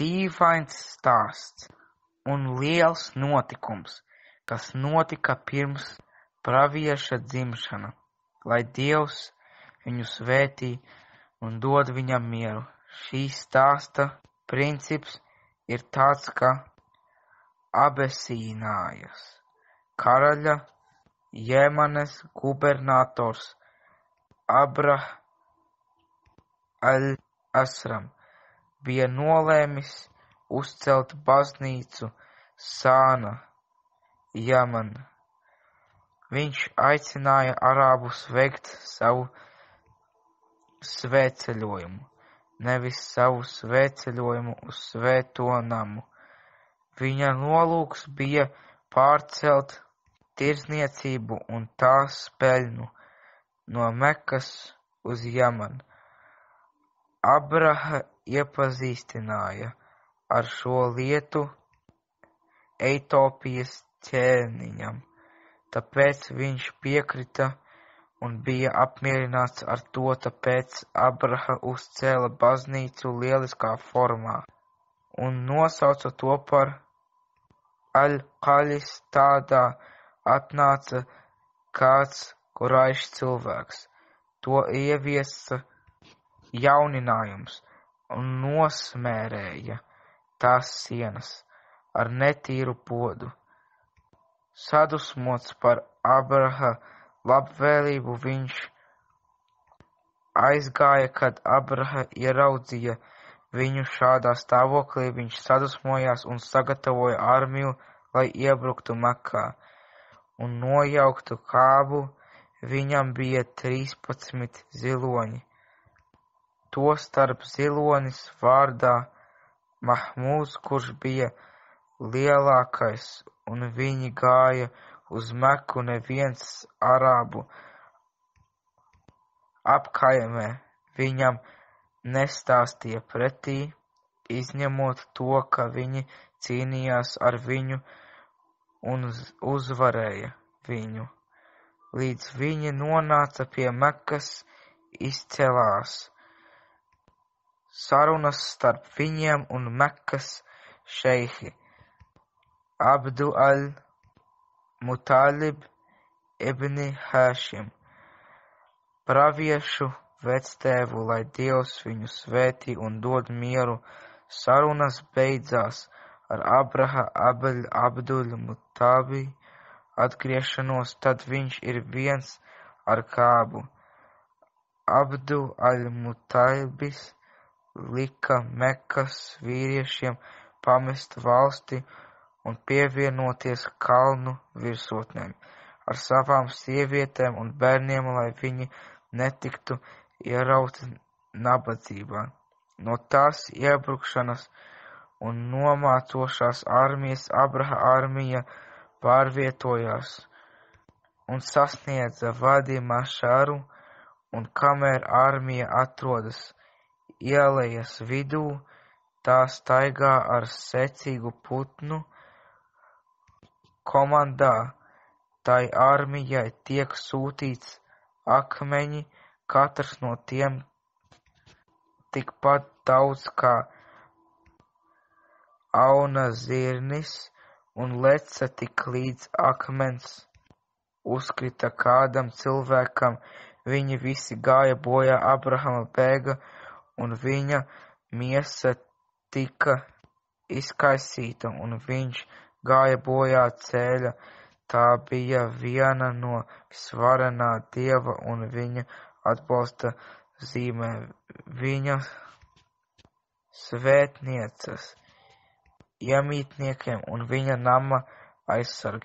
Dīvains stāsts un liels notikums, kas notika pirms pravieša dzimšana, lai Dievs viņu svētī un dod viņam mieru. Šī stāsta princips ir tāds, ka Abesīnājas karaļa Jemanes gubernators Abrah al-Asram bija nolēmis uzcelt baznīcu Sāna, Jemena. Viņš aicināja arābus veikt savu svētceļojumu, nevis savu svētceļojumu uz Svēto namu. Viņa nolūks bija pārcelt tirdzniecību un tās peļņu no Mekas uz Jemenu. Abraha iepazīstināja ar šo lietu Etiopijas ķēniņam, tāpēc viņš piekrita un bija apmierināts ar to, tāpēc Abraha uzcēla baznīcu lieliskā formā un nosauca to par Al-Qalis. Tādā atnāca kāds Kuraišu cilvēks, to ieviesa jauninājums un nosmērēja tās sienas ar netīru podu. Sadusmots par Abraha labvēlību, viņš aizgāja, kad Abraha ieraudzīja viņu šādā stāvoklī, viņš sadusmojās un sagatavoja armiju, lai iebruktu Mekā un nojauktu Kābu. Viņam bija 13 ziloņi. Tostarp zilonis vārdā Mahmūds, kurš bija lielākais, un viņi gāja uz Meku. Neviens arābu apkaimē viņam nestāstīja pretī, izņemot to, ka viņi cīnījās ar viņu un uzvarēja viņu. Līdz viņi nonāca pie Mekas, izcēlās sarunas starp viņiem un Mekas šeihi Abdu al-Mutalib ibni Hašim, praviešu vectēvu, lai Dievs viņu svētī un dod mieru. Sarunas beidzās ar Abraha Abdul Mutalib atgriešanos, tad viņš ir viens ar Kābu. Abdu al-Mutalibis lika Mekas vīriešiem pamest valsti un pievienoties kalnu virsotnēm ar savām sievietēm un bērniem, lai viņi netiktu ierauti nabadzībā. No tās iebrukšanas un nomācošās armijas Abraha armija pārvietojās un sasniedza Vadi Mašaru, un kamēr armija atrodas ielejas vidū, tā staigā ar secīgu putnu komandā. Tai armijai tiek sūtīts akmeņi, katrs no tiem tikpat daudz kā auna zirnis, un leca tik līdz akmens uzkrita kādam cilvēkam. Viņi visi gāja bojā, Abrahama bēga, un viņa miesa tika izkaisīta, un viņš gāja bojā ceļa. Tā bija viena no visvarenā Dieva un viņa atbalsta zīmē, viņa svētnieces iemītniekiem un viņa nama aizsargiem.